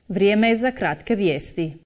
Vrijeme je za kratke vijesti.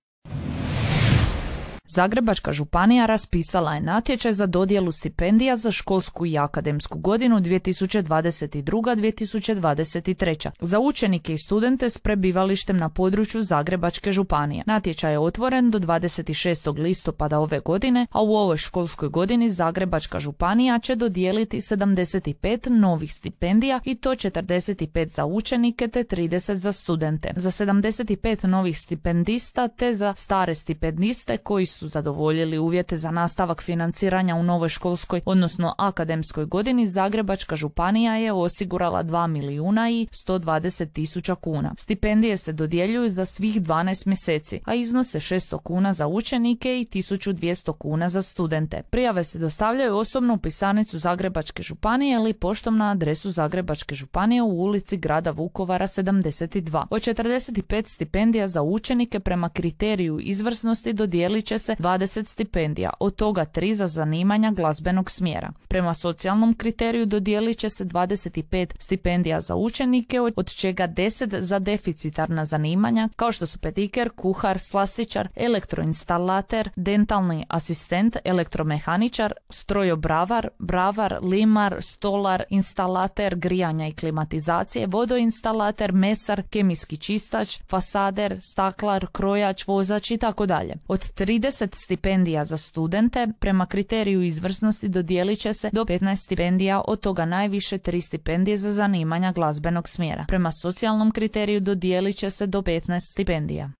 Zagrebačka županija raspisala je natječaj za dodjelu stipendija za školsku i akademsku godinu 2022-2023 za učenike i studente s prebivalištem na području Zagrebačke županije. Natječaj je otvoren do 26. listopada ove godine, a u ovoj školskoj godini Zagrebačka županija će dodijeliti 75 novih stipendija i to 45 za učenike te 30 za studente. Za 75 novih stipendista te za stare stipendiste koji su zadovoljili uvjete za nastavak financiranja u novoj školskoj, odnosno akademskoj godini, Zagrebačka županija je osigurala 2.120.000 kuna. Stipendije se dodjeljuju za svih 12 mjeseci, a iznose 600 kuna za učenike i 1.200 kuna za studente. Prijave se dostavljaju osobno u pisarnicu Zagrebačke županije ili poštom na adresu Zagrebačke županije u ulici Grada Vukovara 72. Od 45 stipendija za učenike prema kriteriju izvrsnosti dodijelit će se 20 stipendija, od toga 3 za zanimanja glazbenog smjera. Prema socijalnom kriteriju dodijelit će se 25 stipendija za učenike, od čega 10 za deficitarna zanimanja, kao što su petiker, kuhar, slastičar, elektroinstalater, dentalni asistent, elektromehaničar, strojobravar, bravar, limar, stolar, instalater grijanja i klimatizacije, vodoinstalater, mesar, kemijski čistač, fasader, staklar, krojač, vozač i tako dalje. Od 30 stipendija za studente prema kriteriju izvrsnosti dodijelit će se do 15 stipendija, od toga najviše 3 stipendije za zanimanja glazbenog smjera. Prema socijalnom kriteriju dodijelit će se do 15 stipendija.